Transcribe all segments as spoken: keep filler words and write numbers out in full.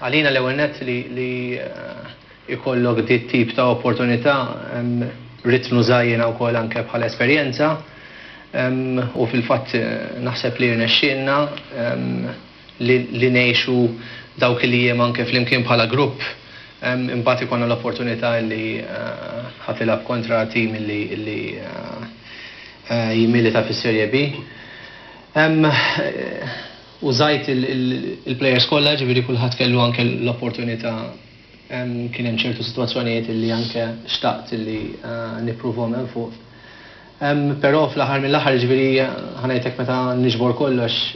Għalina l-ewwel nett li li ikollok dit tip ta' opportunità, ridt nuża jiena wkoll anke bħala esperjenza u fil-fatt naħseb li rnexxielna li ngħixu dawk li jiem anke flimkien bħala grupp. Imbagħad ikollna l-opportunità li ħa tilgħab kontra tim li li jimmilita fis-Serie B. Użajt il-players kollha, ġifieri kulħadd kellu anke l-opportunità. Kien hemm ċertu sitwazzjonijiet li anke xtaqt li nippruvhom hemm fuq. Però fl-aħħar mill-aħħar, ġifieri ħa ngħidlek, meta niġbor kollox,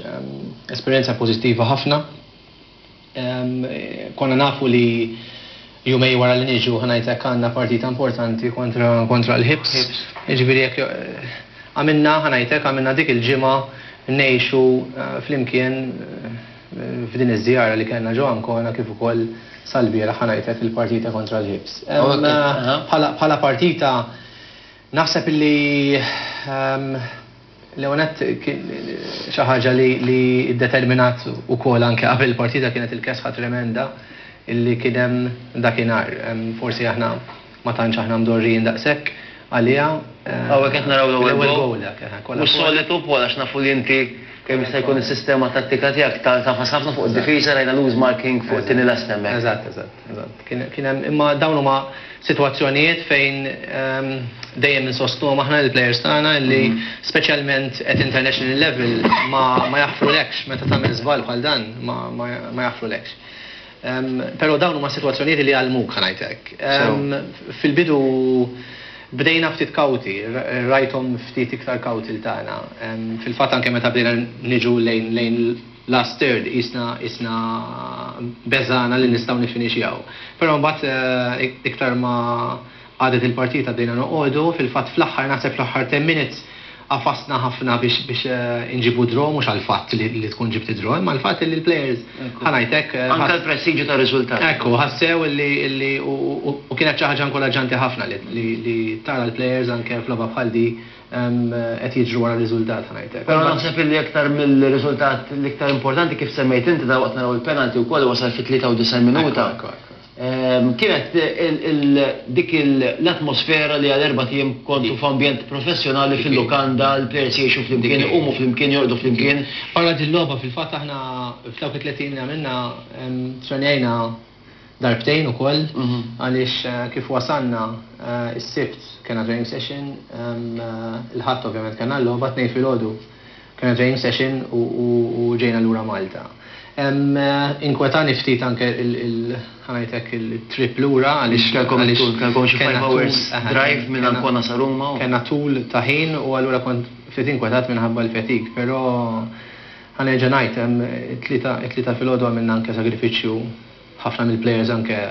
esperjenza pożittiva ħafna. Konna nafu li jumejn wara li niġu, ħa ngħidlek, għandna partita importanti kontra kontra l-Hibs. Ġifieri jekk għamilna, ħa ngħidlek, għamilna dik il-ġimgħa ngħixu flimkien f'din iż-żjara li kellna ġo Ancona kif ukoll sal-bieraħ, ħa ngħidlek, il-partita kontra l-Hibs. Bħala partita naħseb li Leonet xi ħaġa li li determinat ukoll anke qabel il-partita kienet il-kesħa tremenda illi kien hemm dakinhar. Forsi aħna ma tantx aħna mdorrijin daqshekk għalija. Hawnhekk qed naraw l-ewwel goal. Mhux solitu, Paul, għax nafu li inti kemm jista' jkun is-sistema tattika tiegħek tagħfas ħafna fuq id-difiża, rajna loose marking fuq it-tieni last hemmhekk. Eżatt, eżatt, eżatt. Kien hemm, imma dawn huma sitwazzjonijiet fejn dejjem insostnuhom aħna l-players tagħna li speċjalment at international level ma ma jaħfrulekx meta tagħmel żball bħal dan, ma ma jaħfrulekx. Però dawn huma sitwazzjonijiet li għallmuk, ħa ngħidlek. Fil-bidu bdejna ftit kawti, rajthom ftit iktar kawti l-tagħna. Fil-fatt anke meta bdejna niġu lejn lejn last third isna isna beżana li nistgħu nifinixjaw. Però mbagħad iktar ma għadet il-partita bdejna noqogħdu, fil-fatt fl-aħħar, naħseb fl-aħħar ten minutes għafasna ħafna biex biex inġibu draw, mhux għal-fatt li, li tkun ġibti draw, imma l-fatt li l-players, ħa ngħidlek. Anka l-prestiġju ta' riżultat. Ekku, ħassew li li u kienet xi ħaġa inkoraġġanti ħafna li li tara l-players anke f'logħba bħal di qed jiġru wara r-riżultat, ħa ngħidlek. Però naħseb li aktar mill-riżultat l-iktar importanti, kif semmejt inti, da waqt naraw il-penalty wkoll wasal fi tlieta u disgħin minuta. Kienet dik l-atmosfera li għal erbat ijiem kontu f'ambjent professjonali fil-lukanda, l-players jgħixu flimkien, iqumu flimkien, jorqdu flimkien. Barra din-logħba, fil-fatt aħna f'dawk it-tliet ijiem li għamilna trenjajna darbtejn ukoll għaliex kif wasalna is-Sibt kena training session, il-Ħadd ovvjament kena l-logħba, Tnejn filgħodu kena training session u ġejna lura Malta. Inkwetani ftit anke ħa ngħidlek il-trip lura għaliex Kellkom kellkom xi five hours drive minn Ancona sa Ruma. Kellna tul ta' ħin u allura kont ftit inkwetat minħabba l-fatigue, però ħa nerġa' ngħid, it-Tlieta filgħodu għamilna anke sagrifiċċju ħafna mill-players anke.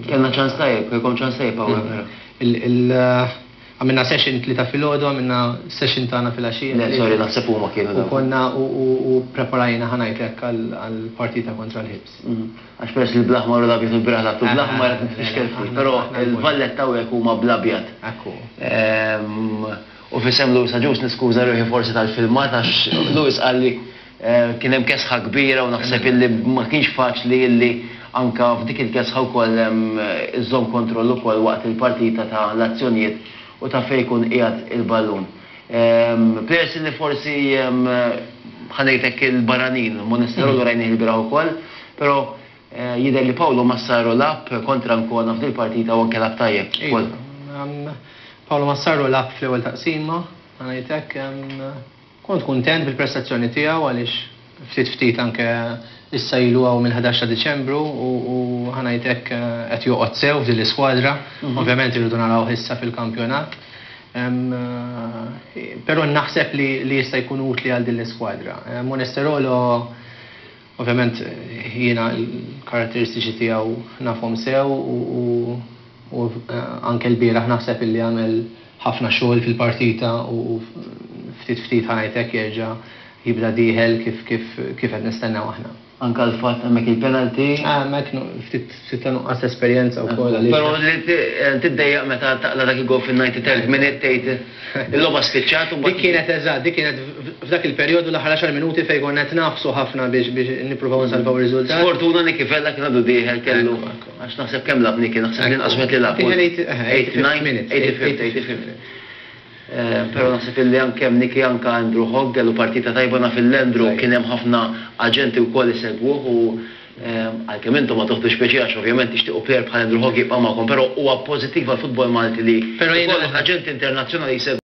Kellna ċans tajjeb, kellkom ċans tajjeb hawnhekk. Għamilna session Tlieta filgħodu, għamilna session tagħna filgħaxija. Le, sorry, naħseb huma kienu. U konna u preparajna, ħa ngħidlek, għall-partita kontra l-Hibs. Għax peress li bl-aħmar u l-abjad u l-bieraħ lagħabtu bl-aħmar qed nitfixkel ftit, però il-Valletta hawnhekk huma bl-abjad. Ekku. U f'isem Louis Agius niskuża ruħi forsi tal-filmat għax Louis qalli kien hemm kesħa kbira u naħseb illi ma kienx faċli illi anka f'dik il-kesħa wkoll iżżomm kontroll ukoll waqt il-partita ta' l-azzjonijiet u ta' fejn jkun qiegħed il-ballun. Players li forsi, ħa ngħidlek, il-barranin, Monesterolo rajnih il-bieraħ ukoll, però jidher li Paolo Massaro lagħab kontra Ancona f'dil partita u anke lagħab tajjeb. Paolo Massaro lagħab fl-ewwel taqsima, ħa ngħidlek, kont kuntent bil-prestazzjoni tiegħu għaliex ftit ftit anke issa ilu hawn mill-ħdax ta' Diċembru u ħa ngħidlek qed joqgħod sew f'din l-iskwadra. Ovvjament irridu naraw issa fil-kampjonat. Però naħseb li jista' jkun utli għal din l-iskwadra. Monesterolo, ovvjament jiena l-karatteristiċi tiegħu nafhom sew u anke l-bieraħ naħseb illi għamel ħafna xogħol fil-partita u ftit ftit, ħa ngħidlek, jerġa' jibda dieħel kif kif kif qed nistennew aħna. Anka l-fatt hemmhekk il-penalty. Ah, mek ftit ftit ta' nuqqas esperjenza wkoll għaliex. Però li tiddejjaq meta taqla dak il-gol fin-ninety-third minute, tgħid il-logħba spiċċat u Dik kienet eżatt, dik kienet f'dak il-perjodu, l-aħħar għaxar minuti, fejn konna qed nagħfsu ħafna biex biex nippruvaw nsalvaw ir-riżultat. Sfortuna Niki Vella kien għadu dieħel kellu. Ekku, ekku. Għax naħseb kemm lagħab Niki, naħseb li inqas wieħed li lagħab. Kien eighty-fifth minute. eighty-fifth, eighty-fifth minute. Eh, Però naħseb illi anke hemm Niki, anke Andrew Hogg kellu partita tajba. Naf il-Andrew kien hemm ħafna aġenti wkoll isegwuh u eh, għalkemm intom ma toħdux speċi għax ovvjament tixtiequ player bħal Andrew Hogg jibqa' magħkom, però huwa pożittiv għall-futbol Malti li Però jiena jkollok aġenti internazzjonali jsegwu.